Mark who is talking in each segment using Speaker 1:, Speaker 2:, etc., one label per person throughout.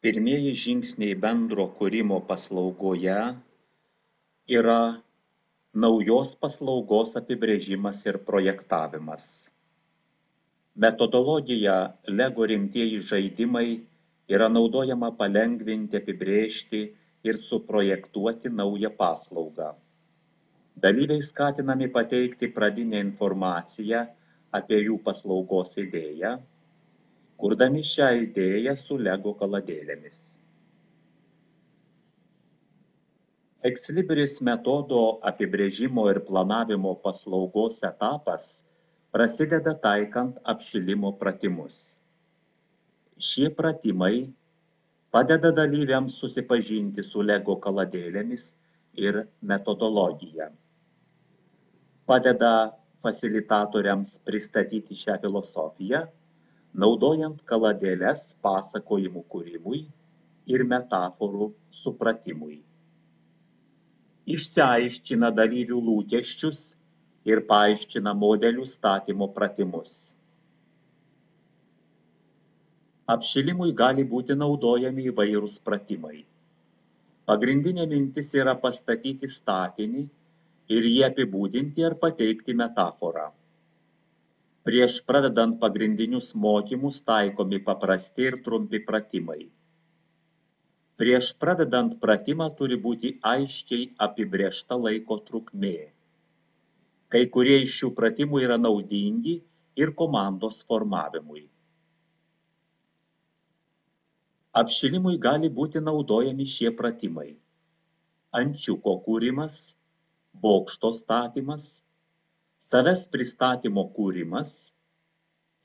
Speaker 1: Pirmieji žingsniai bendro kūrimo paslaugoje yra naujos paslaugos apibrėžimas ir projektavimas. Metodologija LEGO rimtieji žaidimai yra naudojama palengvinti, apibrėžti ir suprojektuoti naują paslaugą. Dalyviai skatinami pateikti pradinę informaciją apie jų paslaugos idėją, kurdami šią idėją su LEGO kaladėlėmis. Ex libris metodo apibrėžimo ir planavimo paslaugos etapas prasideda taikant apšilimo pratimus. Šie pratimai padeda dalyviams susipažinti su LEGO kaladėlėmis ir metodologija. Padeda fasilitatoriams pristatyti šią filosofiją, naudojant kaladėles pasakojimų kūrimui ir metaforų supratimui. Išsiaiškina dalyvių lūkesčius ir paaiškina modelių statymo pratimus. Apšilimui gali būti naudojami įvairūs pratimai. Pagrindinė mintis yra pastatyti statinį ir jį apibūdinti ar pateikti metaforą. Prieš pradedant pagrindinius mokymus taikomi paprasti ir trumpi pratimai. Prieš pradedant pratimą turi būti aiškiai apibrėžta laiko trukmė. Kai kurie iš šių pratimų yra naudingi ir komandos formavimui. Apšilimui gali būti naudojami šie pratimai: ančiuko kūrimas, bokšto statymas, savęs pristatymo kūrimas,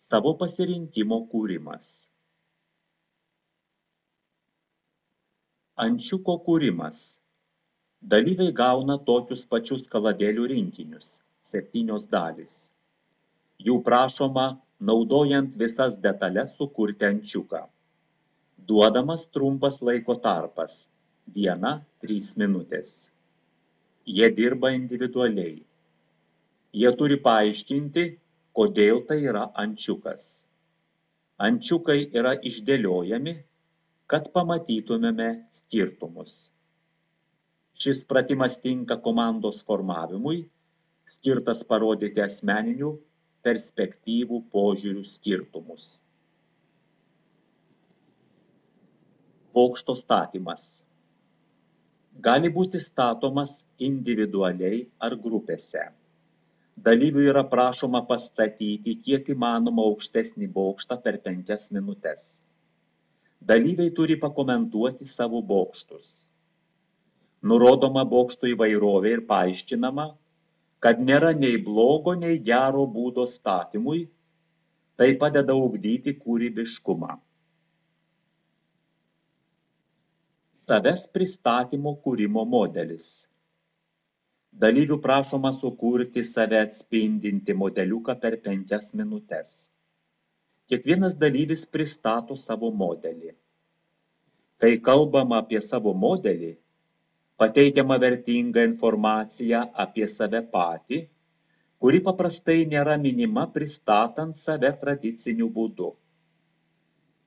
Speaker 1: savo pasirinkimo kūrimas. Ančiuko kūrimas. Dalyviai gauna tokius pačius kaladėlių rinkinius, 7 dalys. Jų prašoma, naudojant visas detalės, sukurti ančiuką. Duodamas trumpas laiko tarpas, 1–3 minutės. Jie dirba individualiai. Jie turi paaiškinti, kodėl tai yra ančiukas. Ančiukai yra išdėliojami, kad pamatytumėme skirtumus. Šis pratimas tinka komandos formavimui, skirtas parodyti asmeninių perspektyvų požiūrių skirtumus. Bokšto statymas. Gali būti statomas individualiai ar grupėse. Dalyvių yra prašoma pastatyti kiek įmanoma aukštesnį bokštą per 5 minutes. Dalyviai turi pakomentuoti savo bokštus. Nurodoma bokštų įvairovė ir paaiškinama, kad nėra nei blogo, nei gero būdo statymui, tai padeda ugdyti kūrybiškumą. Savęs pristatymo kūrimo modelis. Dalyvių prašoma sukurti save atspindinti modeliuką per 5 minutes. Kiekvienas dalyvis pristato savo modelį. Kai kalbama apie savo modelį, pateikiama vertinga informacija apie save patį, kuri paprastai nėra minima pristatant save tradiciniu būdu.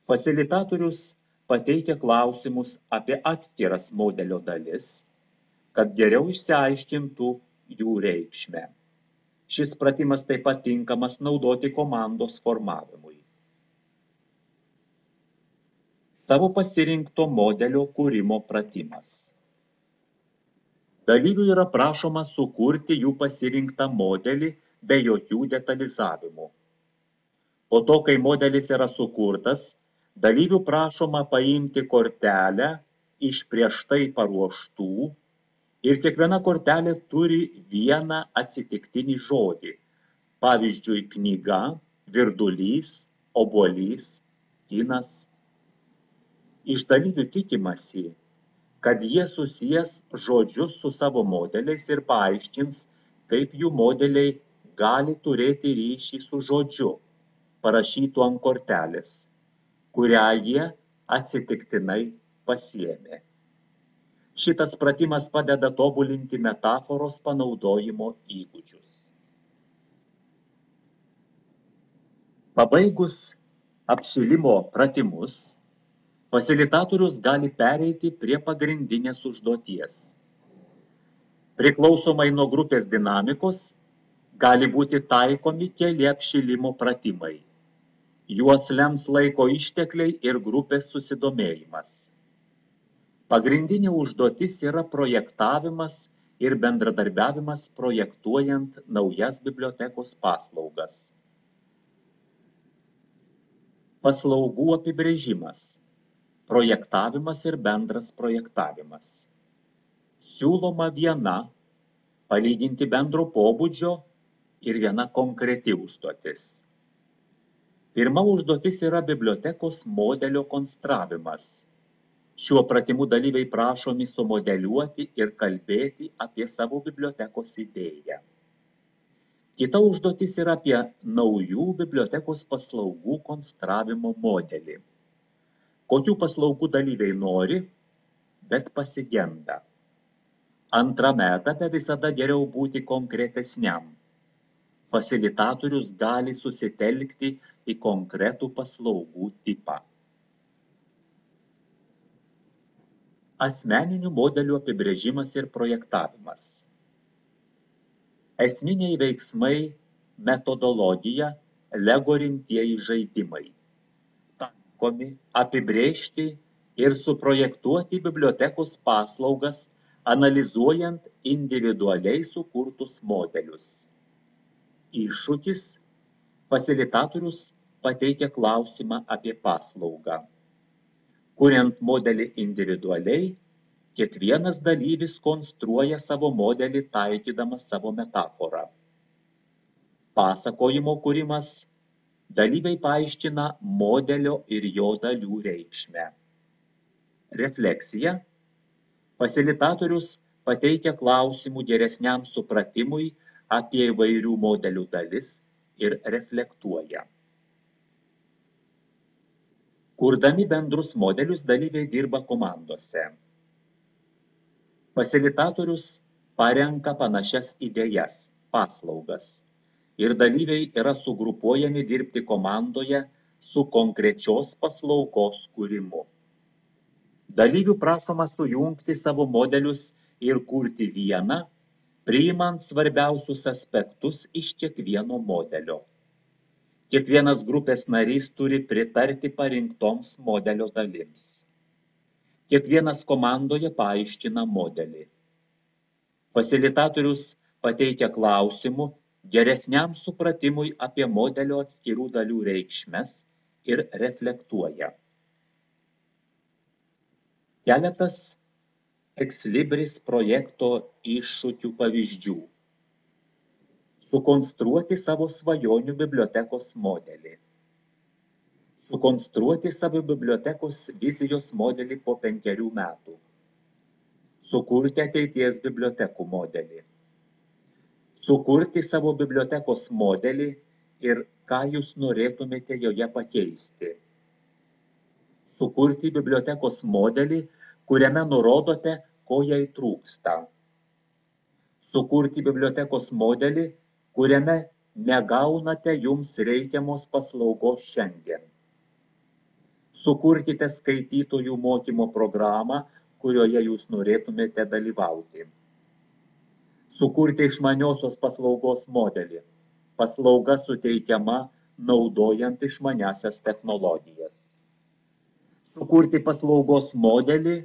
Speaker 1: Fasilitatorius pateikia klausimus apie atskiras modelio dalis, kad geriau išsiaiškintų jų reikšmę. Šis pratimas taip pat tinkamas naudoti komandos formavimui. Savo pasirinkto modelio kūrimo pratimas. Dalyvių yra prašoma sukurti jų pasirinktą modelį be jokių detalizavimų. Po to, kai modelis yra sukurtas, dalyvių prašoma paimti kortelę iš prieš tai paruoštų ir kiekviena kortelė turi vieną atsitiktinį žodį, pavyzdžiui, knyga, virdulys, obuolys, kinas. Iš dalyvių tikimasi, kad jie susijęs žodžius su savo modeliais ir paaiškins, kaip jų modeliai gali turėti ryšį su žodžiu, parašytu ant kortelės, kurią jie atsitiktinai pasiėmė. Šitas pratimas padeda tobulinti metaforos panaudojimo įgūdžius. Pabaigus apšilimo pratimus, Fasilitatorius gali pereiti prie pagrindinės užduoties. Priklausomai nuo grupės dinamikos gali būti taikomi keli apšilimo pratimai. Juos lems laiko ištekliai ir grupės susidomėjimas. Pagrindinė užduotis yra projektavimas ir bendradarbiavimas projektuojant naujas bibliotekos paslaugas. Paslaugų apibrėžimas, projektavimas ir bendras projektavimas. Siūloma viena, palyginti bendro pobūdžio ir viena konkreti užduotis. Pirma užduotis yra bibliotekos modelio konstravimas. Šiuo pratimu dalyviai prašomi sumodeliuoti ir kalbėti apie savo bibliotekos idėją. Kita užduotis yra apie naujų bibliotekos paslaugų konstravimo modelį. Kokių paslaugų dalyviai nori, bet pasigenda. Antrame etape visada geriau būti konkretesniam. Fasilitatorius gali susitelkti į konkretų paslaugų tipą. Asmeninių modelių apibrėžimas ir projektavimas. Esminiai veiksmai, metodologija, LEGO rimtieji žaidimai. Taikomi apibrėžti ir suprojektuoti bibliotekos paslaugas, analizuojant individualiai sukurtus modelius. Iššūkis – fasilitatorius pateikia klausimą apie paslaugą. Kuriant modelį individualiai, kiekvienas dalyvis konstruoja savo modelį taikydamas savo metaforą. Pasakojimo kūrimas – dalyviai paaiškina modelio ir jo dalių reikšmę. Refleksija – fasilitatorius pateikia klausimų geresniam supratimui apie įvairių modelių dalis ir reflektuoja. Kurdami bendrus modelius dalyviai dirba komandose. Fasilitatorius parenka panašias idėjas, paslaugas, ir dalyviai yra sugrupuojami dirbti komandoje su konkrečios paslaugos kūrimu. Dalyvių prašoma sujungti savo modelius ir kurti vieną, priimant svarbiausius aspektus iš kiekvieno modelio. Kiekvienas grupės narys turi pritarti parinktoms modelio dalims. Kiekvienas komandoje paaiškina modelį. Fasilitatorius pateikia klausimų geresniam supratimui apie modelio atskirų dalių reikšmes ir reflektuoja. Keletas Exlibris projekto iššūkių pavyzdžių. Sukonstruoti savo svajonių bibliotekos modelį. Sukonstruoti savo bibliotekos vizijos modelį po 5 metų. Sukurti ateities bibliotekų modelį. Sukurti savo bibliotekos modelį ir ką jūs norėtumėte joje pakeisti. Sukurti bibliotekos modelį, kuriame nurodote, ko jai trūksta. Sukurti bibliotekos modelį, kuriame negaunate jums reikiamos paslaugos šiandien. Sukurkite skaitytojų mokymo programą, kurioje jūs norėtumėte dalyvauti. Sukurti išmaniosios paslaugos modelį. Paslauga suteikiama naudojant išmaniasias technologijas. Sukurti paslaugos modelį,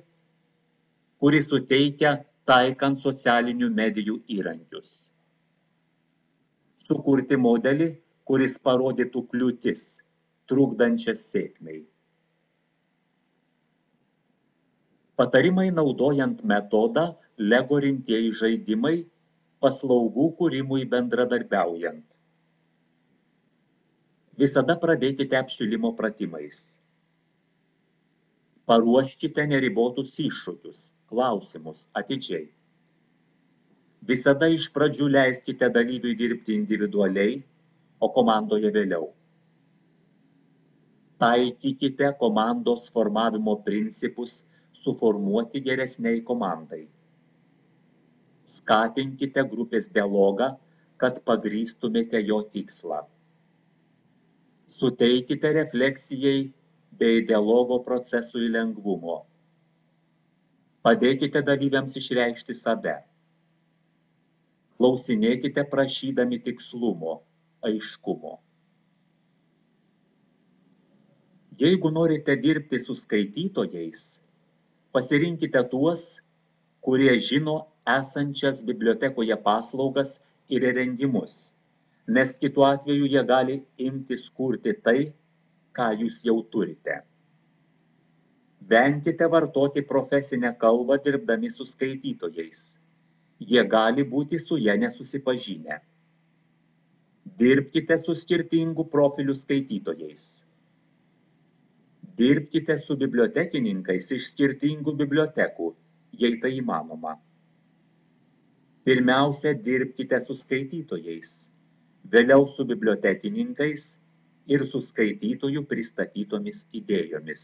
Speaker 1: kuris suteikia taikant socialinių medijų įrankius. Sukurti modelį, kuris parodytų kliūtis, trukdančias sėkmei. Patarimai naudojant metodą LEGO rimtieji žaidimai, paslaugų kūrimui bendradarbiaujant. Visada pradėkite apšilimo pratimais. Paruoškite neribotus iššūkius, klausimus atidžiai. Visada iš pradžių leiskite dalyviui dirbti individualiai, o komandoje vėliau. Taikykite komandos formavimo principus suformuoti geresniai komandai. Skatinkite grupės dialogą, kad pagrįstumėte jo tikslą. Suteikite refleksijai bei dialogo procesui lengvumo. Padėkite dalyviams išreikšti save. Klausinėkite prašydami tikslumo, aiškumo. Jeigu norite dirbti su skaitytojais, pasirinkite tuos, kurie žino esančias bibliotekoje paslaugas ir įrengimus, nes kitu atveju jie gali imtis kurti tai, ką jūs jau turite. Venkite vartoti profesinę kalbą dirbdami su skaitytojais. Jie gali būti su ja nesusipažinę. Dirbkite su skirtingų profilių skaitytojais. Dirbkite su bibliotekininkais iš skirtingų bibliotekų, jei tai įmanoma. Pirmiausia, dirbkite su skaitytojais, vėliau su bibliotekininkais ir su skaitytojų pristatytomis idėjomis.